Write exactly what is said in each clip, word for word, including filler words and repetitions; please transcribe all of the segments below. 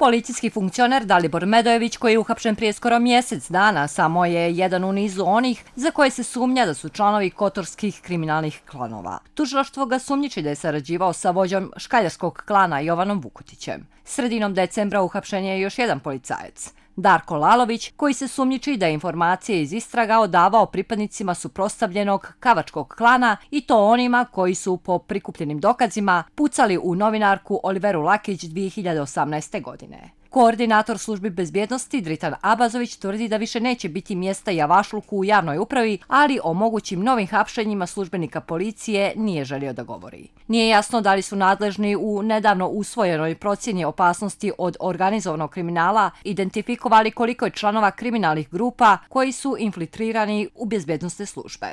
Policijski funkcioner Dalibor Medojević, koji je uhapšen prije skoro mjesec dana, samo je jedan u nizu onih za koje se sumnja da su članovi kotorskih kriminalnih klanova. Tužilaštvo ga sumnjiči da je sarađivao sa vođom škaljarskog klana Jovanom Vukotićem. Sredinom decembra uhapšen je još jedan policajac, Darko Lalović, koji se sumnjiči da je informacije iz istraga odavao pripadnicima suprotstavljenog kavačkog klana i to onima koji su po prikupljenim dokazima pucali u novinarku Oliveru Lakić dvije hiljade osamnaeste. godine. Koordinator službi bezbjednosti Dritan Abazović tvrdi da više neće biti mjesta javašluku u javnoj upravi, ali o mogućim novim hapšenjima službenika policije nije želio da govori. Nije jasno da li su nadležni u nedavno usvojenoj procjeni opasnosti od organizovanog kriminala identifikovali koliko je članova kriminalnih grupa koji su infiltrirani u bezbjednosne službe.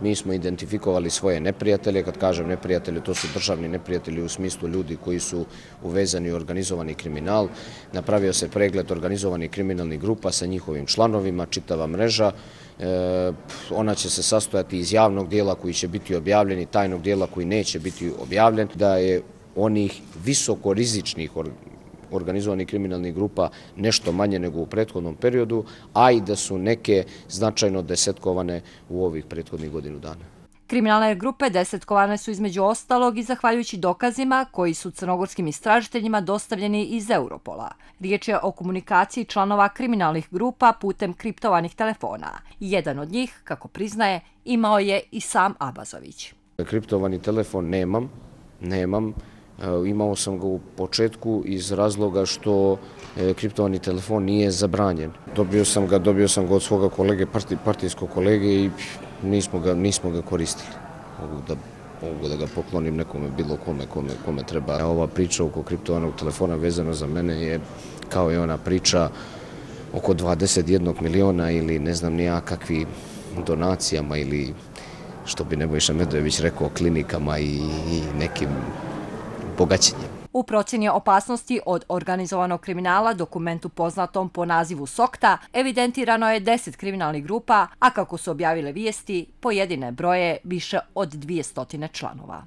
Mi smo identifikovali svoje neprijatelje, kad kažem neprijatelje, to su državni neprijatelji u smislu ljudi koji su uvezani u organizovani kriminal. Napravio se pregled organizovanih kriminalnih grupa sa njihovim članovima, čitava mreža. E, ona će se sastojati iz javnog dijela koji će biti objavljen i tajnog dijela koji neće biti objavljen. Da je onih visokorizičnih organizovanih kriminalnih grupa nešto manje nego u prethodnom periodu, a i da su neke značajno desetkovane u ovih prethodnih godinu dana. Kriminalne grupe desetkovane su između ostalog i zahvaljujući dokazima koji su crnogorskim istražiteljima dostavljeni iz Europola. Riječ je o komunikaciji članova kriminalnih grupa putem kriptovanih telefona. Jedan od njih, kako priznaje, imao je i sam Abazović. Kriptovani telefon nemam, nemam. Imao sam ga u početku iz razloga što kriptovani telefon nije zabranjen. Dobio sam ga, dobio sam ga od svoga kolege, partijskog kolege i nismo ga, nismo ga koristili. Mogu da, mogu da ga poklonim nekome, bilo kome, kome, kome treba. Ova priča oko kriptovanog telefona vezano za mene je kao i ona priča oko dvadeset jednog miliona ili ne znam ni ja kakvi donacijama ili što bi Nebojša Medojević rekao klinikama i, i nekim bogaćenjem. U procjeni opasnosti od organizovanog kriminala, dokumentu poznatom po nazivu SOKTA, evidentirano je deset kriminalnih grupa, a kako su objavile vijesti, pojedine broje više od dvije stotine članova.